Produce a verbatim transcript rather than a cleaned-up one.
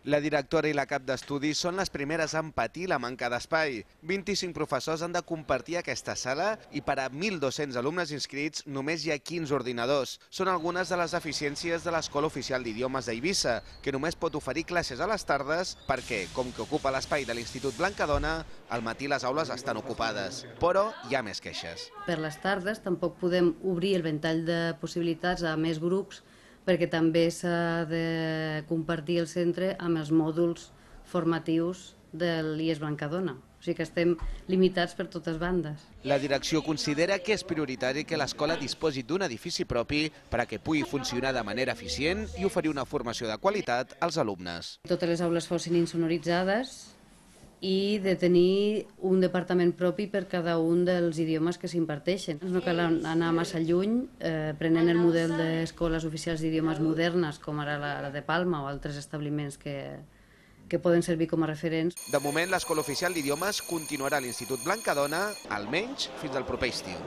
La directora i la cap d'estudis són les primeres en patir la manca d'espai. vint-i-cinc professors han de compartir aquesta sala i per a mil dos-cents alumnes inscrits només hi ha quinze ordinadors. Són algunes de les deficiències de l'Escola Oficial d'Idiomes d'Eivissa, que només pot oferir classes a les tardes perquè, com que ocupa l'espai de l'Institut Blancadona, al matí les aules estan ocupades. Però hi ha més queixes. Per les tardes tampoc podem obrir el ventall de possibilitats a més grups perquè també s'ha de compartir el centre amb els mòduls formatius de l'I E S Blancadona. O sigui que estem limitats per totes bandes. La direcció considera que és prioritari que l'escola disposi d'un edifici propi per a que pugui funcionar de manera eficient i oferir una formació de qualitat als alumnes. Totes les aules fossin insonoritzades i de tenir un departament propi per cada un dels idiomes que s'imparteixen. No cal anar massa lluny, eh, prenent el model d'escoles oficials d'idiomes modernes, com ara la, la de Palma o altres establiments que, que poden servir com a referents. De moment, l'Escola Oficial d'Idiomes continuarà a l'Institut Blancadona, almenys fins al proper estiu.